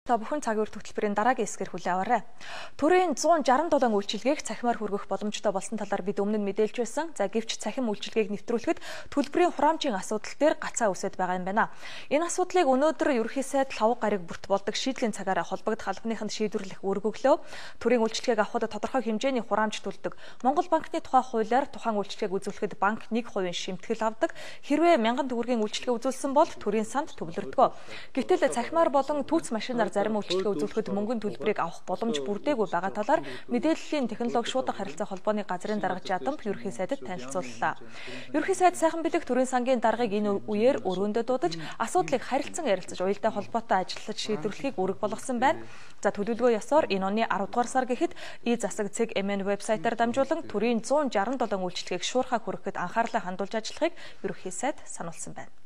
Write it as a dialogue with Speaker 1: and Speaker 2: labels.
Speaker 1: Та бүхэн цаг үр хөтөлбөрийн дараагийн хэсгээр хүлээн аваарай. Төрийн 167 үйлчилгээг цахимаар хүргэх боломжтой болсон талаар бид өмнө нь мэдээлж байсан. За гэвч цахим үйлчилгээг нэвтрүүлэхэд төлбөрийн хураамжийн асуудал дээр гацаа үсэт байгаа юм байна. Энэ асуудлыг өнөөдөр ерөнхий сайд лав гариг бүрт болдог шийдлийн цагаараа холбогдох албаныханд шийдвэрлэх үүрэг өглөө. Төрийн үйлчилгээг авахд тодорхой хэмжээний хураамж төлдөг. Монгол банкны тухай хуулиар тухайн үйлчилгээг үзүүлэхэд банк 1% шимтгэл авдаг. Хэрвээ 1000 төгрөгийн үйлчилгээ үзүүлсэн бол төрийн санд төвлөрдөг. Гэвтэл цахимаар болон түүц машинаар зарим үйлчилгээ үзүүлэхэд мөнгөний төлбөрийг авах боломж бүрдээгүй байгаа талаар мэдээллийн технологи шуударга харилцаа холбооны газрын дарга Жадамп ерөнхий сайдад танилцууллаа. Ерөнхий сайд сайхан бэлэг төрийн сангийн даргыг энэ үеэр өрөөндөө дуудаж асуудлыг харилцан ярилцаж уялдаа холбоотой ажиллаж шийдвэрлэхийг үүрэг болгосон байна. За төлөвлөгөө ёсоор энэ оны 10 дугаар сар гэхэд засаг CEG-MN вебсайтаар дамжуулан төрийн 167 үйлчилгээг шуурхаа хүргэхэд анхаарлаа хандуулж ажиллахыг ерөнхий сайд сануулсан байна.